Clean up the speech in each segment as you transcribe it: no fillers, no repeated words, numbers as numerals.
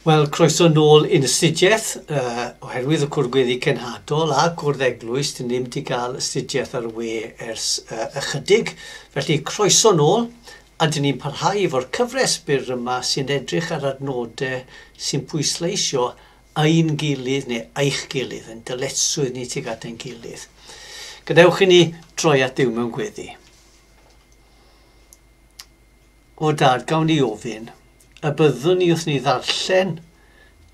Wel, croeso nôl i'n astudiaeth, oherwydd y cwrdd gweddi cenhadol a cwrdd eglwys, dyn ni ddim wedi cael astudiaeth ar y we ers ychydig. Felly, croeso nôl, a dyn ni'n parhau efo'r cyfres byr yma sy'n edrych ar adnodau sy'n pwysleisio ein gilydd neu eich gilydd, yn dyletswydd ni tuag at ein gilydd. Gadewch i ni droi at Dduw mewn gweddi. O Dad, gawn ni ofyn, y byddwn ni wrth ni ddarllen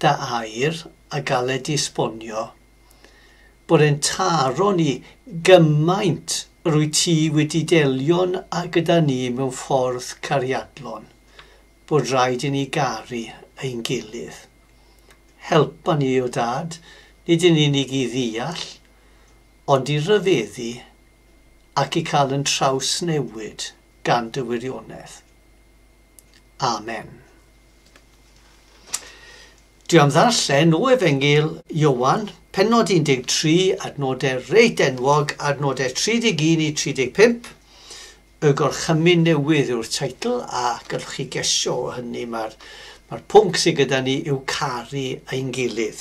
dy air a gael ei disbonio, bod e'n taro ni gymaint yr wyt ti wedi delio'n a gyda ni mewn ffordd cariadlon, bod rhaid i ni garu ein gilydd. Helpa ni, o Dad, nid yn unig i ddeall, ond i ryfeddu ac i cael yn trawsnewid gan dy wirionedd. Amen. Dwi am ddarllen o Efengyl Ioan, pennod 13, adnodau reit enwog, adnodau 31 i 35. Y Gorchymyn Newydd yw'r teitl, a gallwch chi gesio o hynny, mae'r mae pwnc sydd gyda ni yw caru ein gilydd.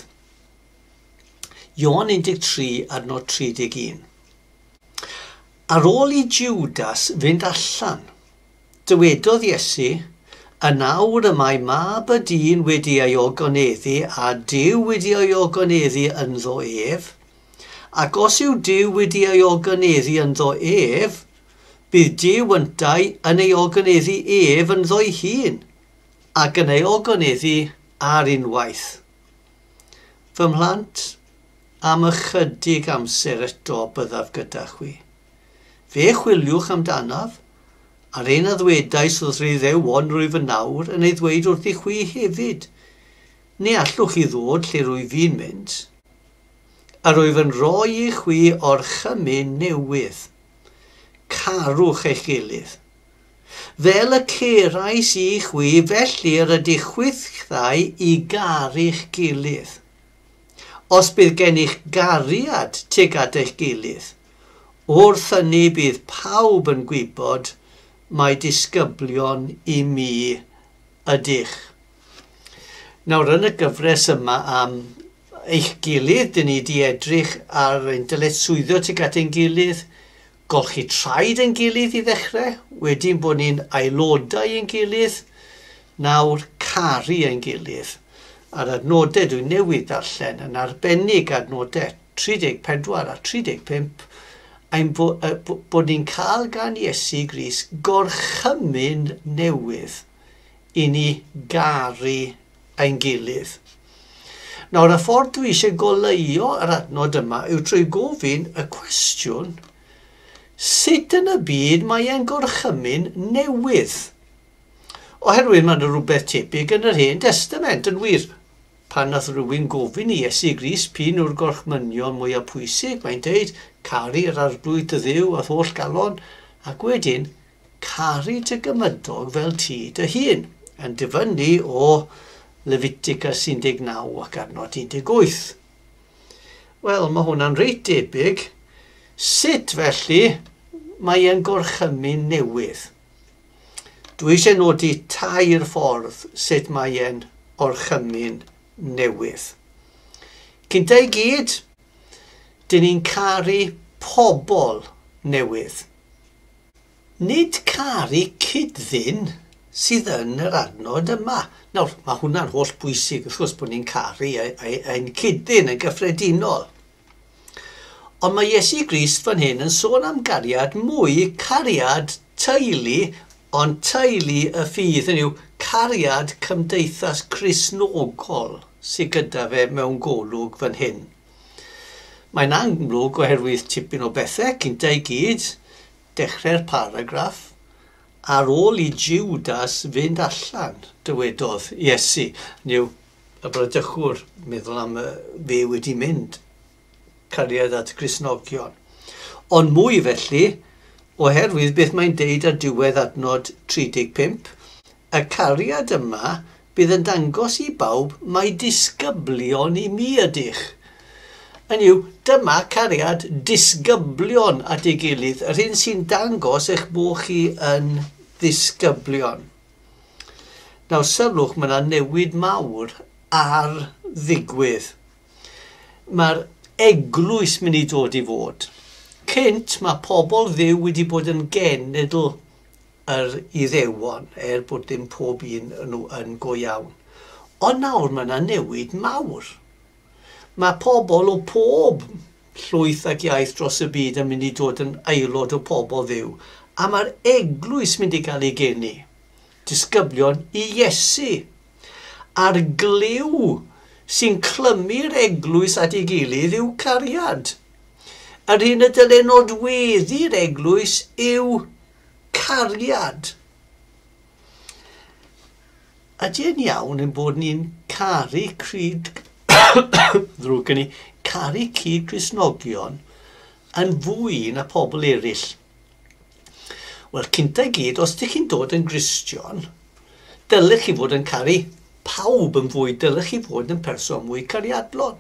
Ioan 13, adnod 31. Ar ôl i Judas fynd allan, dywedodd Iesu, Yn awr y mae Mab y Dyn wedi ei ogoneddu a Duw wedi ei ogoneddu ynddo ef, ac os yw Duw wedi ei ogoneddu ynddo ef, bydd Duw yntau yn ei ogoneddu ef ynddo'i hun, ac yn ei ogoneddu ar unwaith. Fy mhlant, am ychydig amser eto byddaf gyda chwi. Fe chwiliwch amdanaf, a'r un a ddwedais wrth yr Iddewon rwyf yn awr yn ei ddweud wrth i chwi hefyd. Ni allwch chi ddod lle rwyf fi'n mynd. A rwyf yn rhoi i chwi orchymyn newydd. Carwch eich gilydd. Fel y cerais i chwi, felly yr ydych chwithau i garu'ch gilydd. Os bydd gennych gariad tuag at eich gilydd, wrth hynny bydd pawb yn gwybod mai disgyblion i mi ydych. Nawr, yn y gyfres yma am eich gilydd, dyn ni wedi edrych ar ein dyletswyddo tuag at ein gilydd, golchi traed ein gilydd i ddechrau, wedyn bod ni'n aelodau ein gilydd, nawr caru ein gilydd. A'r adnodau dwi'n newydd darllen yn arbennig adnodau 34 a 35, ein bod ni'n cael gan Iesu Grist gorchymyn newydd i ni garu ein gilydd. Nawr, y ffordd dwi eisiau goleuo yr adnod yma yw trwy gofyn y cwestiwn, sut yn y byd mae e'n gorchymyn newydd? Oherwydd mae yna rhywbeth tebyg yn yr Hen Destament, yn wir. Pan nath rhywun gofyn i Iesu Grist p'un yw'r gorchmynion mwyaf pwysig, mae'n deud, caru yr Arglwydd dy Dduw â'th holl galon, ac wedyn, caru dy gymydog fel ti dy hun, yn dyfynnu o Lefiticus 19 ac adnod 18. Wel, mae hwnna'n reit debyg. Sut, felly, mae e'n gorchymyn newydd? Dwi eisiau nodi tair ffordd sut mae e'n orchymyn newydd. Cynta i gyd, dyn ni'n caru pobl newydd. Nid caru cyd-ddyn sydd yn yr adnod yma. Nawr, mae hwnna'n holl bwysig, wrth gwrs, bod ni'n caru ein cyd-ddyn yn gyffredinol. Ond mae Iesu Grist fan hyn yn sôn am gariad mwy, cariad teulu, ond teulu y ffydd, hynny yw cariad cymdeithas Cristnogol sydd gyda fe mewn golwg fan hyn. Mae'n amlwg oherwydd tipyn o bethau, cynta i gyd, dechrau'r paragraff, ar ôl i Judas fynd allan, dywedodd Iesu. Hynny yw, y bradychwr, meddwl am fe wedi mynd, cariad at Gristnogion. Ond mwy felly, oherwydd beth mae'n deud ar diwedd adnod 35, y cariad yma bydd yn dangos i bawb mai disgyblion i mi ydych. Hynny yw, dyma cariad disgyblion at ei gilydd, yr hyn sy'n dangos eich bod chi yn ddisgyblion. Nawr sylwch, mae yna newid mawr ar ddigwydd. Mae'r eglwys mynd i dod i fod. Cynt mae pobl Dduw wedi bod yn genedl yr Iddewon, er bod dim pob un nhw yn go iawn. Ond nawr mae yna newid mawr. Mae pobl o pob llwyth ac iaith dros y byd yn mynd i dod yn aelod o pobl Dduw. A mae'r eglwys mynd i gael ei geni. Disgyblion i Iesu. A'r gliw sy'n clymu'r eglwys at ei gilydd yw cariad. Yr hyn y dyle nodweddu'r eglwys yw cariad. Ydy e'n iawn ein bod ni'n caru cryd ddrwg gen i, caru cyd Cristnogion yn fwy na pobl eraill? Wel, cynta i gyd, os ydych chi'n dod yn Gristion, dylech chi fod yn caru pawb yn fwy, dylech chi fod yn person mwy cariadlon.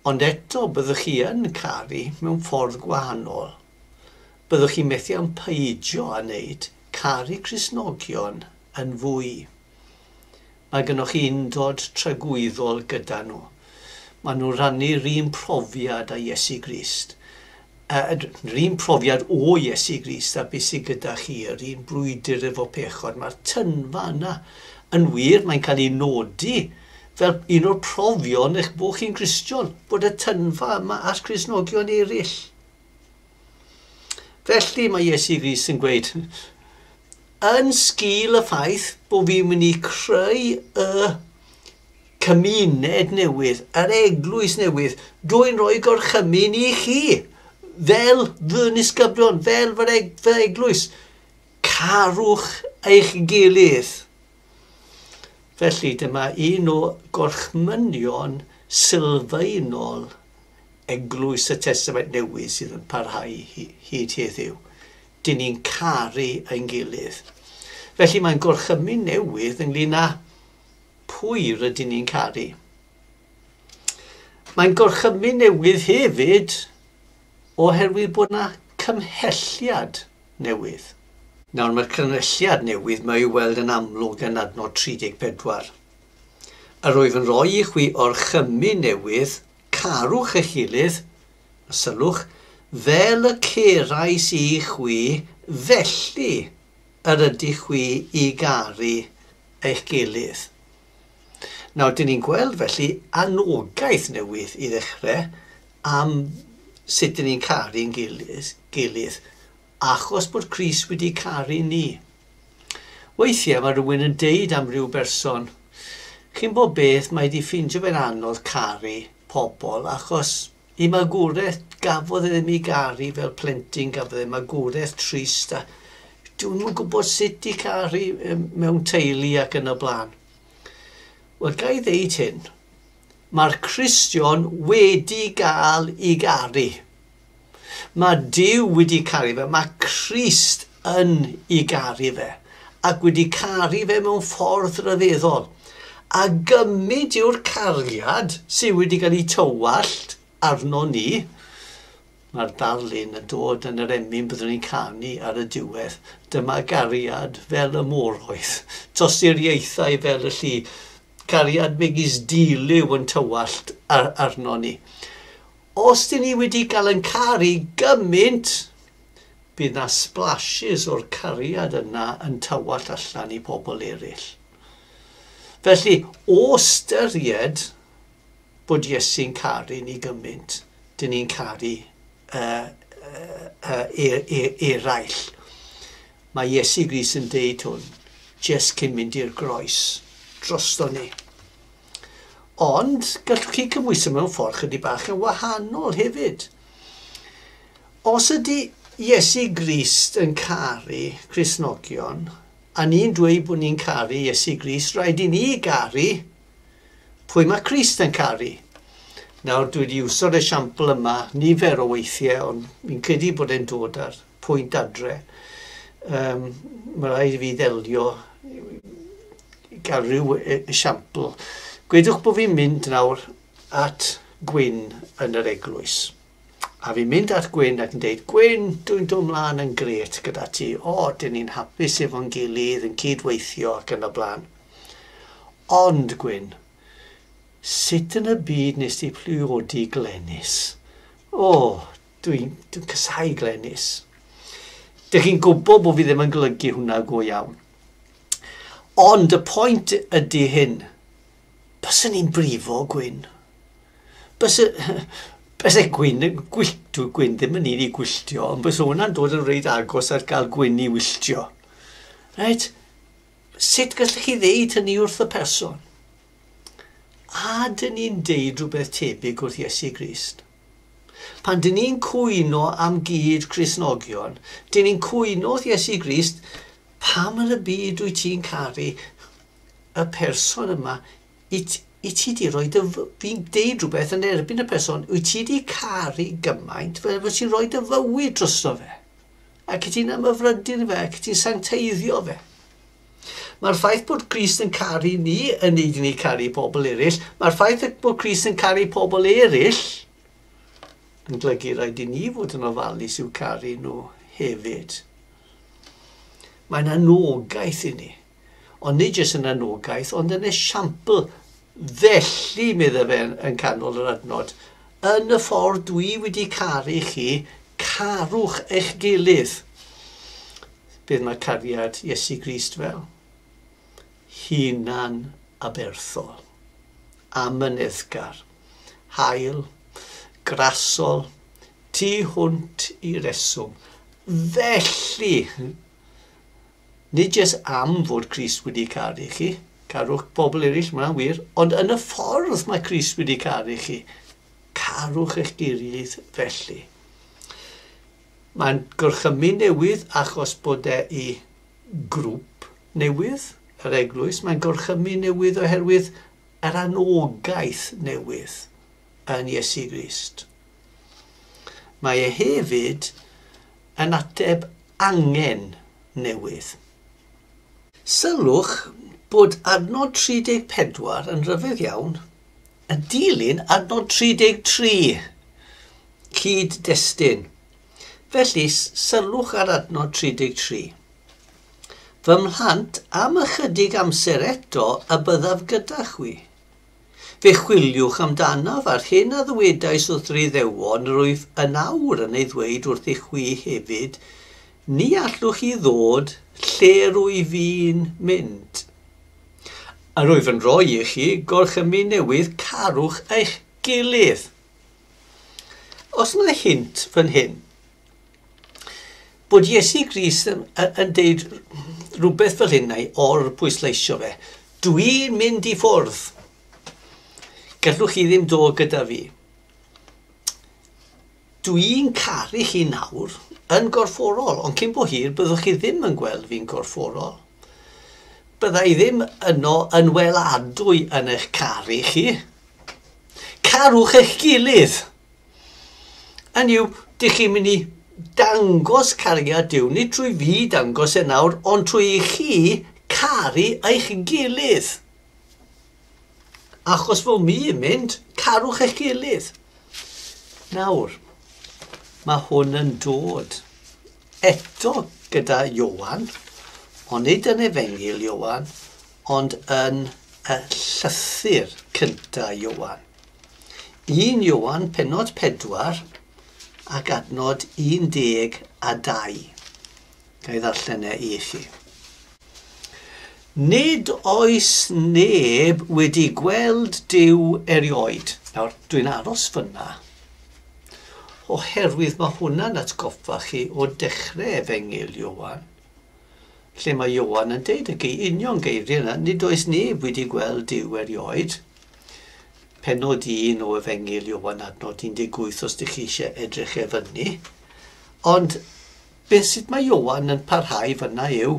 Ond eto, byddwch chi yn caru mewn ffordd gwahanol. Byddwch chi'n methu am peidio â wneud caru Cristnogion yn fwy. Mae gennych chi undod tragwyddol gyda nhw. Maen nhw'n rhannu'r un profiad â Iesu Grist. Yr un profiad o Iesu Grist a beth sydd gyda chi, yr un brwydr efo pechod. Mae'r tynfa yna yn wir, mae'n cael ei nodi fel un o'r profion eich bod chi'n Gristion, bod y tynfa yma at Cristnogion eraill. Felly mae Iesu Grist yn gweud, yn sgil y ffaith bod fi'n mynd i creu y cymuned newydd, yr eglwys newydd, dwi'n rhoi gorchymyn i chi, fel fy nisgyblion, fel fy eglwys, carwch eich gilydd. Felly dyma un o gorchmynion sylfaenol eglwys y Testament Newydd sydd yn parhau hyd heddiw. Dyn ni'n caru ein gilydd. Felly mae'n gorchymyn newydd ynglyn â pwy rydyn ni'n caru. Mae'n gorchymyn newydd hefyd oherwydd bod yna cymhelliad newydd. Nawr mae'r cymhelliad newydd mae i'w weld yn amlwg yn adnod 34. Yr wyf yn rhoi i chwi orchymyn newydd, carwch eich gilydd, a sylwch, fel y cerais i chwi, felly yr ydych chwi i garu eich gilydd. Nawr, dyn ni'n gweld felly anogaeth newydd i ddechrau am sut dyn ni'n caru'n gilydd, achos bod Crist wedi caru ni. Weithiau mae rhywun yn deud am ryw berson, chi'n bod beth, mae wedi ffeindio fe'n anodd caru pobl, achos i magwraeth gafodd e ddim ei garu fel plentyn, gafodd e magwraeth trist, a dwi'm yn gwybod sut i caru mewn teulu ac yn y blaen. Wel, ga i ddeud hyn, mae'r Cristion wedi gael ei garu. Mae Duw wedi caru fe, mae Crist yn ei garu fe, ac wedi caru fe mewn ffordd ryfeddol. A gymryd yw'r cariad sydd wedi cael ei tywallt arno ni, mae'r darlun yn dod yn yr emyn byddwn ni'n canu ar y diwedd. Dyma gariad fel y moroedd, tosturiaethau fel y lli, cariad megis dilyw yn tywallt arno ni. Os dyn ni wedi cael yn caru gymaint, bydd na splashes o'r cariad yna yn tywallt allan i pobl eraill. Felly, o ystyried bod Iesu'n caru ni gymaint, dyn ni'n caru eraill. Mae Iesu Grist yn deud hwn, jyst cyn mynd i'r groes, drosto ni. Ond gallwch chi cymhwyso mewn ffordd chydig bach yn wahanol hefyd. Os ydy Iesu Grist yn caru Cristnogion, a ni'n dweud bod ni'n caru Iesu Grist, rhaid i ni garu pwy mae Crist yn caru. Nawr, dwi wedi iwso'r esiampl yma nifer o weithiau, ond fi'n credu bod e'n dod ar pwynt adre. Mae rhaid i fi ddelio i gael rhyw esiampl. Gwedwch bod fi'n mynd nawr at Gwyn yn yr eglwys. A fi'n mynd at Gwyn ac yn deud, Gwyn, dwi'n dod mlaen yn gret gyda ti. O, dyn ni'n hapus efo'n gilydd, yn cydweithio ac yn y blaen. Ond, Gwyn, sut yn y byd nes ti priodi Glenys? O, dwi'n casáu Glenys. Dych chi'n gwybod bod fi ddim yn golygu hwnna go iawn. Ond y pwynt ydy hyn. Byswn i'n brifo, Gwyn. Byse Gwyn, Gwyn ddim yn un i gwylltio, ond byse hwnna'n dod yn reit agos at gael Gwyn i wylltio. Reit? Sut gallech chi ddeud hynny wrth y person? A dyn ni'n deud rhywbeth tebyg wrth Iesu Grist? Pan dyn ni'n cwyno am gyd Cristnogion, dyn ni'n cwyno wrth Iesu Grist, pam yn y byd wyt ti'n caru y person yma? I ti di roi dy... Fi'n deud rhywbeth yn erbyn y person, wyt ti di caru gymaint fel bod ti'n rhoi dy fywyd drosto fe? Ac ti'n ymhyfrydu fe, ac ti'n sancteiddio fe. Mae'r ffaith bod Crist yn caru ni yn neud i ni caru pobl eraill. Mae'r ffaith bod Crist yn caru pobl eraill yn golygu rhaid i ni fod yn ofalus i'w caru nhw hefyd. Mae'n anogaeth i ni. Ond nid jyst yn anogaeth, ond yn esiampl. Felly, meddai fe yn canol yr adnod, yn y ffordd dwi wedi caru chi, carwch eich gilydd. Beth mae cariad Iesu Grist fel? Hunan aberthol, amyneddgar, hael, grasol, tu hwnt i reswm. Felly, nid jyst am fod Crist wedi caru chi, carwch bobl eraill, mae'n wir, ond yn y ffordd mae Crist wedi caru chi, carwch eich gilydd felly. Mae'n gorchymyn newydd achos bod e i grŵp newydd, yr eglwys. Mae'n gorchymyn newydd oherwydd yr anogaeth newydd yn Iesu Grist. Mae e hefyd yn ateb angen newydd. Sylwch bod adnod 34 yn rhyfedd iawn yn dilyn adnod 33, cyd-destun. Felly, sylwch ar adnod 33. Fy mhlant, am ychydig amser eto y byddaf gyda chwi. Fe chwiliwch amdanaf a'r hyn a ddywedais wrth yr Iddewon rwyf yn awr yn ei ddweud wrthych chwi hefyd, ni allwch chi ddod lle rwyf fi'n mynd. A rwyf yn rhoi i chi gorchymyn newydd, carwch eich gilydd. Os yna hint fan hyn, bod Iesu Grist yn deud rhywbeth fel hyn neu or-bwysleisio fe. Dwi'n mynd i ffwrdd. Gallwch chi ddim dod gyda fi. Dwi'n caru chi nawr yn gorfforol, ond cyn bo hir byddwch chi ddim yn gweld fi'n gorfforol. Bydda i ddim yno yn weladwy yn eich caru chi. Carwch eich gilydd. Hynny yw, dych chi'n mynd i dangos cariad Duw, nid trwy fi dangos e nawr, ond trwy i chi caru eich gilydd. Achos fod mi yn mynd, carwch eich gilydd. Nawr, mae hwn yn dod eto gyda Ioan, ond nid yn Efengyl Ioan, ond yn y llythyr cyntaf Ioan. 1 Ioan, pennod 4, ac adnod 12. Ga i ddarllen e i chi. Nid oes neb wedi gweld Duw erioed. Nawr, dwi'n aros fyna, oherwydd mae hwnna'n atgoffa chi o dechrau Efengyl Ioan, lle mae Ioan yn deud y union geiriau yna, nid oes neb wedi gweld Duw erioed. Pennod 1 o Efengyl Ioan adnod 18 os ydych chi eisiau edrych e fyny. Ond beth sydd mae Ioan yn parhau fyna yw,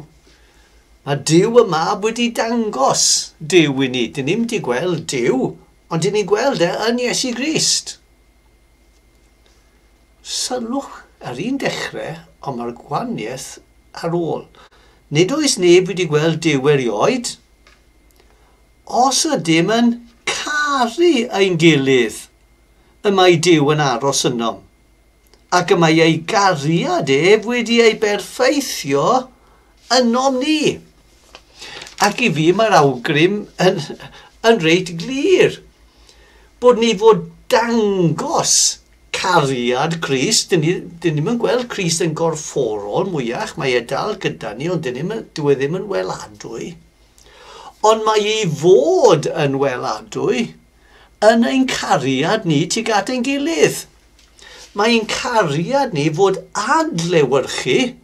mae Duw y Mab wedi dangos Duw i ni. Dyn ni'm wedi gweld Duw, ond dyn ni'n gweld e yn Iesu Grist. Sylwch ar un dechrau, ond mae'r gwahaniaeth ar ôl. Nid oes neb wedi gweld Duw erioed. Os ydym yn caru ein gilydd, y mae Duw yn aros ynom, ac y mae ei gariad ef wedi ei berffeithio ynom ni. Ac i fi mae'r awgrym yn reit glir. Bod ni fod dangos cariad Crist. Dyn ni ddim yn gweld Crist yn gorfforol mwyach, mae e dal gyda ni, ond dyw e ddim yn weladwy. Ond mae ei fod yn weladwy yn ein cariad ni tuag at ein gilydd. Mae ein cariad ni fod adlewyrchu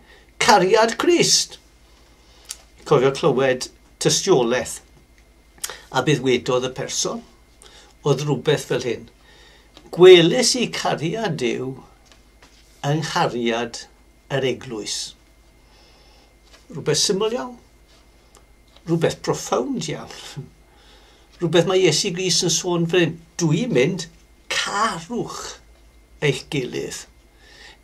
cariad Crist. Cofio clywed tystiolaeth a bydd wedodd y person oedd rhywbeth fel hyn. Gweles i cariad Duw yng nghariad yr eglwys. Rhywbeth syml iawn. Rhywbeth profound iawn. Rhywbeth mae Iesu Grist yn sôn fel hyn. Dwi'n mynd, carwch eich gilydd.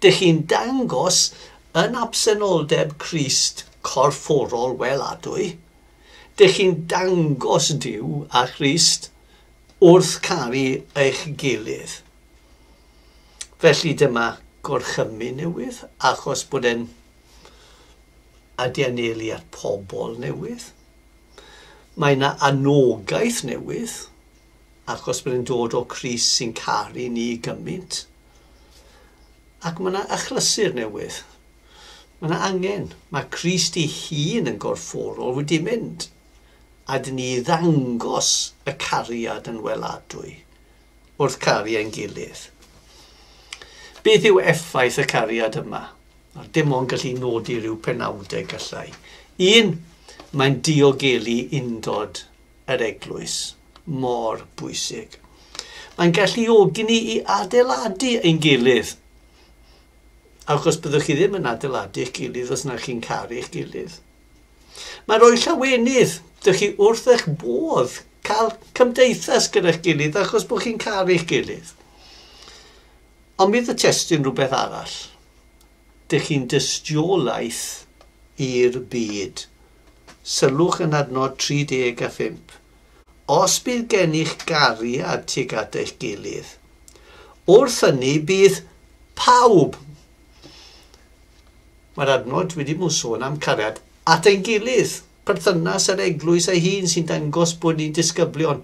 Dych chi'n dangos yn absenoldeb Crist corfforol weladwy. Dych chi'n dangos Duw a Christ wrth caru eich gilydd. Felly dyma gorchymyn newydd, achos bod e'n adianelu at pobl newydd. Mae yna anogaeth newydd, achos bod e'n dod o Crist sy'n caru ni gymaint. Ac mae yna achlysur newydd. Mae yna angen. Mae Crist ei hun yn gorfforol wedi mynd. A dyn ni ddangos y cariad yn weladwy wrth caru ein gilydd. Beth yw effaith y cariad yma? Dim ond gallu nodi rhyw penawdau gallai. Un, mae'n diogelu undod yr eglwys. Mor bwysig. Mae'n galluogi ni i adeiladu ein gilydd. Achos byddwch chi ddim yn adeiladu eich gilydd os na chi'n caru eich gilydd. Mae'n rhoi llawenydd. Dych chi wrth eich bodd cael cymdeithas gyda'ch gilydd achos bod chi'n caru eich gilydd. Ond bydd y testun rhywbeth arall. Dych chi'n dystiolaeth i'r byd. Sylwch yn adnod 35. Os bydd gennych gariad tuag at eich gilydd, wrth hynny bydd pawb. Mae'r adnod wedi bod yn sôn am cariad at ein gilydd, perthynas yr eglwys ei hun sy'n dangos bod ni'n disgyblion.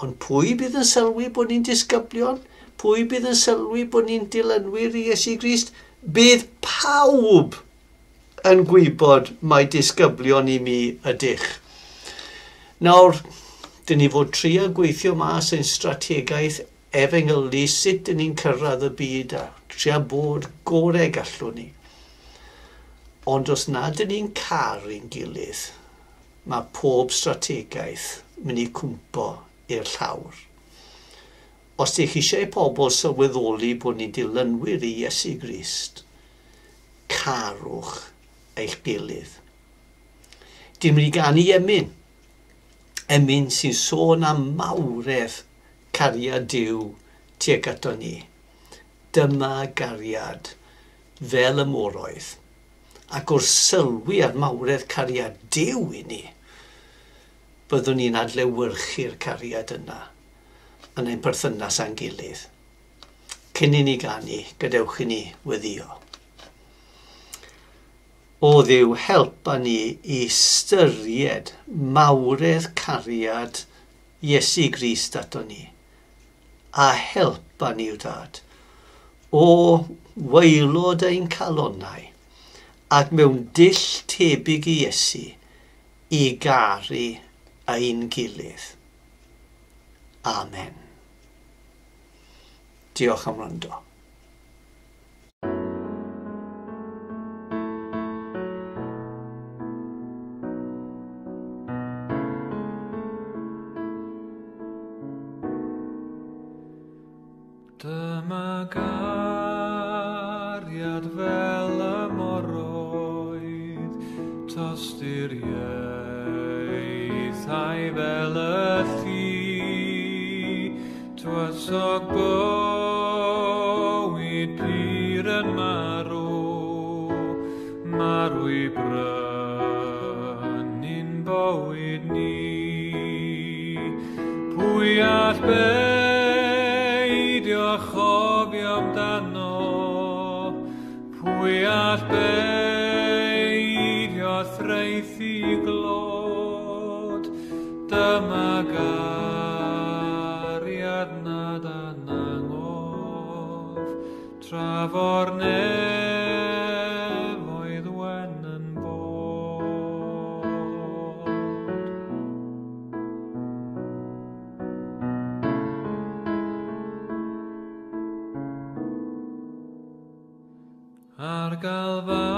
Ond pwy bydd yn sylwi bod ni'n disgyblion? Pwy bydd yn sylwi bod ni'n dilynwyr i Iesu Grist? Bydd pawb yn gwybod mai disgyblion i mi ydych. Nawr, dyn ni fod trio gweithio mas ein strategaeth efengylu, sut dyn ni'n cyrraedd y byd a trio bod gorau gallwn ni. Ond os nad dyn ni'n caru'n gilydd, mae pob strategaeth mynd i cwmpo i'r llawr. Os ydych eisiau pobl sylweddoli bod ni'n dilynwyr i Iesu Grist, carwch eich gilydd. Dyn mynd i ganu emyn. Emyn sy'n sôn am mawredd cariad Duw tuag ato ni. Dyma gariad fel y moroedd. Ac wrth sylwi ar mawredd cariad Duw i ni, byddwn ni'n adlewyrchu'r cariad yna yn ein perthynas â'n gilydd. Cyn i ni ganu, gadewch i ni weddïo. O Dduw, helpa ni i ystyried mawredd cariad Iesu Grist ato ni. A helpa ni, yw Dad, o waelod ein calonnau ac mewn dull tebyg i Iesu i garu ein gilydd. Amen. Diolch am wrando. Dyma gariad fel y moroedd, tosturiaethau fel y lli, tywysog bywyd pur yn marw, marw i brynu'n bywyd ni. Pwy all beidio chofio amdano, pwy all beidio thraethu glod? Dyma gariad nad anangof, tra fo'r nefoedd wen yn bod. Ar Galfaria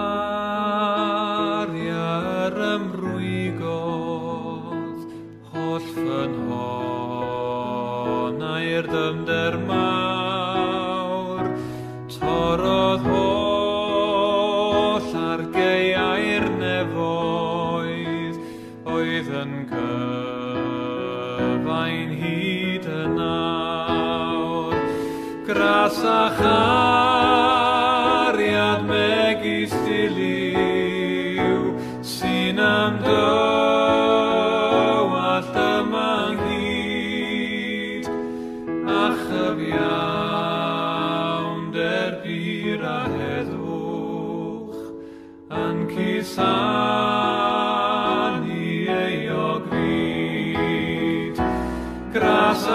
yr ymrwygodd, holl ffynhonnau'r dyfnder mawr, torrodd holl argaeau'r nefoedd, oedd yn cyfain hyd yn awr. Gras a chariad megis diliw, sy'n ymdywallt yma ynghyd, a chyfiawnder pur a heddwch, yn cusanu euog fyd. Gras a